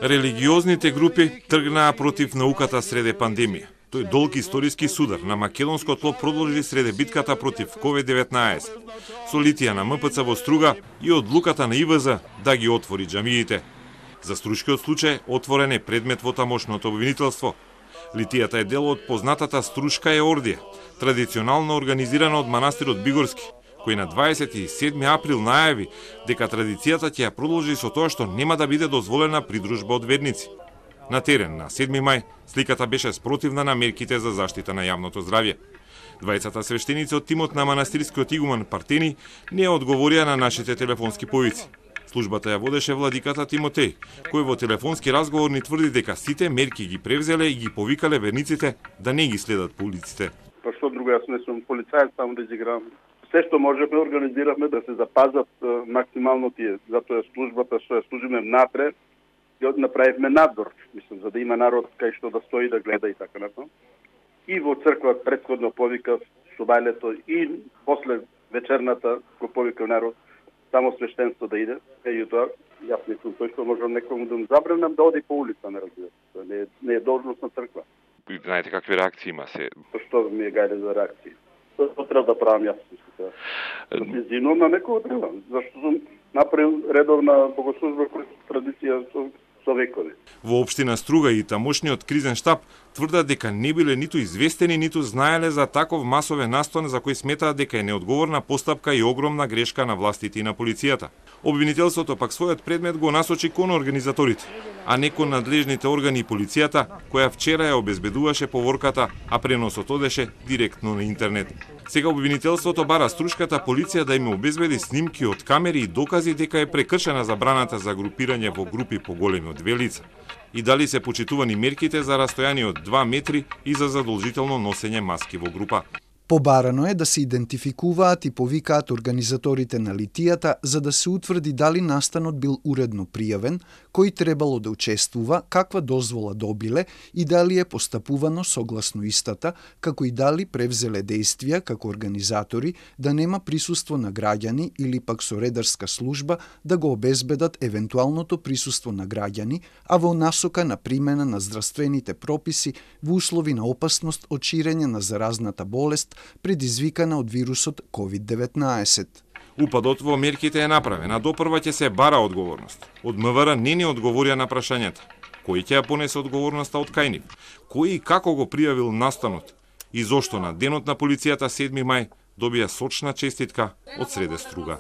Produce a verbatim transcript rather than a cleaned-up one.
Религиозните групи тргнаа против науката среде пандемија. Тој долг историски судар на македонско тло продолжи среде битката против ковид деветнаесет, со Литија на М П Ц во Струга и одлуката на И В З да ги отвори џамиите. За Струшкиот случај отворен е предмет во тамошното обвинителство. Литијата е дел од познатата Струшка еордија, традиционално организирана од манастирот Бигорски, кој на дваесет и седми април најави дека традицијата ќе ја продолжи со тоа што нема да биде дозволена придружба од верници. На терен на седми мај сликата беше спротивна на мерките за заштита на јавното здравје. Двајцата свештеници од тимот на манастирскиот игумен Партени не одговорија на нашите телефонски повици. Службата ја водеше владиката Тимотеј, кој во телефонски разговор ни тврди дека сите мерки ги превзеле и ги повикале верниците да не ги следат по улиците. Па што друго, јас не сум полицаец, само да изиграм. Се што можевме, организиравме да се запазат максимално тие. Затоа службата што ја служиме внатре, ја направивме надзор, мислам, за да има народ кај што да стои да гледа и така натаму. И во црква претходно повикав субајлето и после вечерната го повикав народ само свештенство да иде. Еј тоа, јас не сум тој што можам некому да му забранам да оди по улица, не разбира. Не е, не е должност на црква. Знаете какви реакции има се? Што ми е гајде за реакции? Тоа треба да правам јас. Да се извинувам на некој треба, зашто сум направил редовна богослужба која традиција со, со векови. Во општина Струга и тамошниот кризен штаб тврдат дека не биле ниту известени, ниту знаеле за таков масовен настан за кој сметаат дека е неодговорна постапка и огромна грешка на властите и на полицијата. Обвинителството пак својот предмет го насочи кон организаторите, а не кон надлежните органи и полицијата, која вчера ја обезбедуваше поворката, а преносот одеше директно на интернет. Сега обвинителството бара струшката полиција да им обезбеди снимки од камери и докази дека е прекршена забраната за групирање во групи поголеми од две лица. И дали се почитувани мерките за растојание од два метри и за задолжително носење маски во група. Побарано е да се идентификуваат и повикаат организаторите на литијата за да се утврди дали настанот бил уредно пријавен, кој требало да учествува, каква дозвола добиле и дали е постапувано согласно истата, како и дали превзеле действија како организатори да нема присуство на граѓани или пак со редарска служба да го обезбедат евентуалното присуство на граѓани, а во насока на примена на здравствените прописи во услови на опасност од ширење на заразната болест предизвикана од вирусот ковид деветнаесет. Упадот во мерките е направен, а допрва ќе се бара одговорност. Од М В Р не ни одговорија на прашањата. Кој ќе ја понесе одговорноста од кај нив? Кој и како го пријавил настанот? И зошто на денот на полицијата седми мај добија сочна честитка од среде Струга?